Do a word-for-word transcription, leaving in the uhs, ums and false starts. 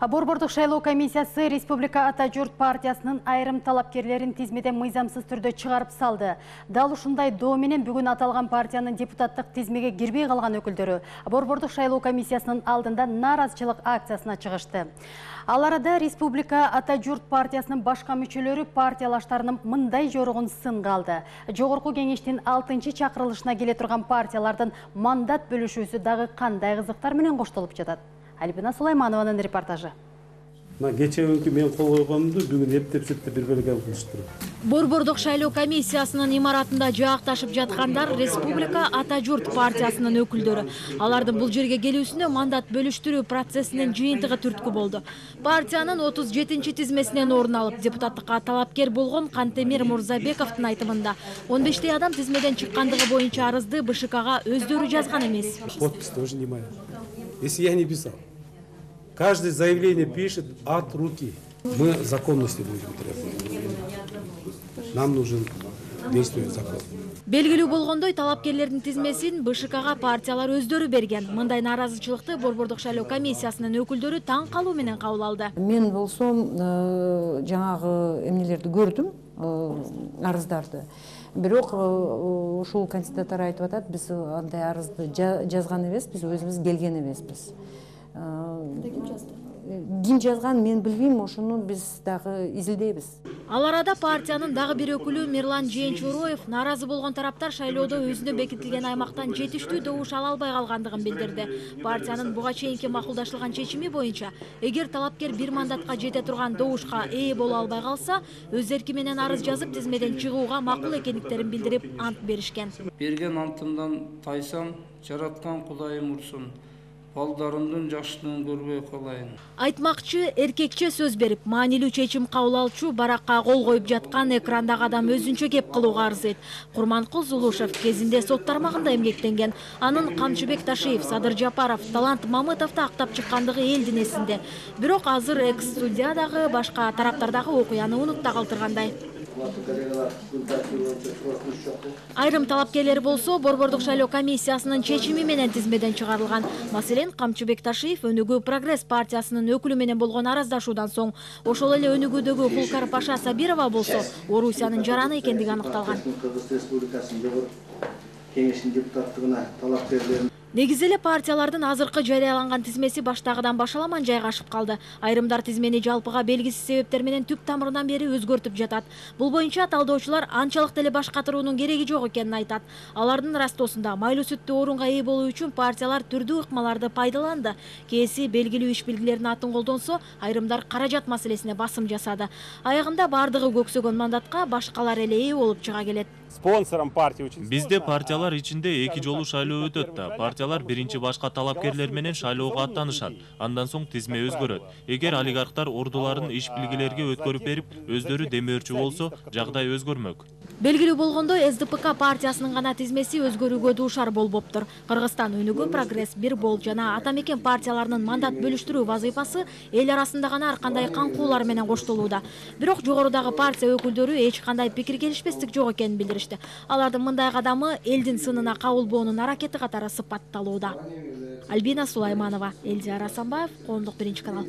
Борбордук шайлоо комиссиясы Республика Ата Журт партиясынын айрым талапкерлерин тизмеден мыйзамсыз түрдө чыгарып салды. Дал ушундай доо менен бүгүн аталган партиянын депутаттык тизмеге кирбей калган өкүлдөрү Борбордук шайлоо комиссиясынын алдында нааразычылык акциясына чыгышты. Ал арада Республика Ата Журт партиясынын башка мүчөлөрү партиялаштарынын мындай жорогун сынга алды. Жогорку кеңештин алтынчы чакырылышына келе турган партиялардын мандат бөлүшүүсү дагы кандай кызыктар менен коштолуп жатат? Альбина Сулайманованын репортажы. Кече күнкү мен кол койгонумду бүгүн эптеп-септеп бир бөлөк кылыштыр. Борбордук шайлоо комиссиясынын имаратында жаакташып жаткандар Республика Ата Журт партиясынын өкүлдөрү. Алардын бул жерге келүүсүнө мандат бөлүштүрүү процессинин жыйынтыгы түрткү болду. Партиянын отуз жетинчи тизмесинен орун алып, депутаттыкка талапкер болгон Кантемир Мурзабековдун айтымында он бештей адам тизмеден чыккандыгы боюнча арызды БШКга өздөрү жазган эмес. Подпись тоже не моя. Если я не писал. Каждое заявление пишет от руки. Мы законности будем требовать. Нам нужен действующий закон. Белгилүү болгондой, талапкерлердин тизмесин БШКга партиялар өздөрү берген. Мындай нааразычылыкты Борбордук шайлоо комиссиясынын өкүлдөрү таң калуу менен кабыл алды. Мен болсом жаңагы эмнелерди көрдүм, арыздарды. Бирок ушул кандидаттар айтып атат, биз андай арызды жазган эмеспиз, өзүбүз келген эмеспиз. Ким жазган мен билбейм, ошону биз дагы изилдейбиз. Ал арада партиянын дагы бир өкүлү Мирлан Жээнчуроев нааразы болгон тараптар шайлоодо өзүнө бекитилген аймактан жетиштүү добуш ала албай калгандыгын билдирди. Партиянын буга чейинки макулдашылган чечими боюнча, эгер талапкер бир мандатка жете турган добушка ээ боло албай калса, өз эрки менен арыз жазып тизмеден чыгууга макул экендиктерин билдирип ант беришкен. Берген антымдан тайсам, жараткан Кудайым урсун. Балдарымдын жакшылыгын көрбөй калайын. Айтмакчы, эркекче сөз берип, маанилүү чечим кабыл алчу баракка кол коюп жаткан экрандагы адам өзүнчө кеп кылууга арзыйт. Курманкул Зулушев кезинде сот тармагында эмгектенген. Анын Камчыбек Ташиев, Садыр Жапаров, Талант Мамытовду актап чыккандыгы элдин эсинде. Бирок азыр экс-судьядагы башка тараптардагы окуяны унутта калтыргандай. Айрым талапкерлер болсо Борбордук шайлоо комиссиясынын чечими менен тизмеден чыгарылган. Маселен, Камчыбек Ташиев Өнүгүү Прогресс партиясынын өкүлү менен болгон араздашуудан соң, ошол эле Өнүгүүдөгү Хулкар Паша Сабирова болсо Орусиянын жараны экендиги аныкталган. Кеңештин депутаттыгына талапкерлерин Негизи эле партиялардын азыркы жарыяланган тизмеси баштагыдан башаламан жайгашып калды. Айрымдар тизмени жалпыга белгисиз себептер менен түп тамырынан бери өзгөртүп жатат. Бул боюнча талдоочулар анчалык деле баш катыруунун кереги жок экенин айтат. Алардын растоосунда майлуу сүттүү орунга ээ болуу үчүн партиялар түрдүү ыкмаларды пайдаланды. Кээси белгилүү иш билгилердин атын колдонсо, айрымдар каражат маселесине басым жасады. Аягында бардыгы көксөгөн мандатка башкалар эле ээ болуп чыга келет. Спонсором партия Бизде партиялар ичинде эки жолу шайлоо өтөт да. Партиялар биринчи башка талапкерлер менен шайлоого аттанышат. Андан соң тизме өзгөрөт. Эгер олигархтар ордуларын иш билгилерге өткөрүп берип, өздөрү демөөрчү болсо, жагдай өзгөрмөк. Белгилүү болгондой, эс дэ пэ ка партиясынын гана тизмеси өзгөрүүгө дуушар болбоптур. Кыргызстан Өнүгүү Прогресс, Бир Бол жана Ата Мекен партияларынын мандат бөлүштүрүү вазыйфасы эл арасында гана ар кандай каңкуулар менен коштолууда. Бирок жогорудагы партия өкүлдөрү эч кандай пикир келишпестик жок экенин билдиришти. Алардын мындай кадамы элдин сынына кабылбоонун аракети катары сыпатталууда. Альбина Сулайманова, Элдиар Асанбаев, Коомдук биринчи канал.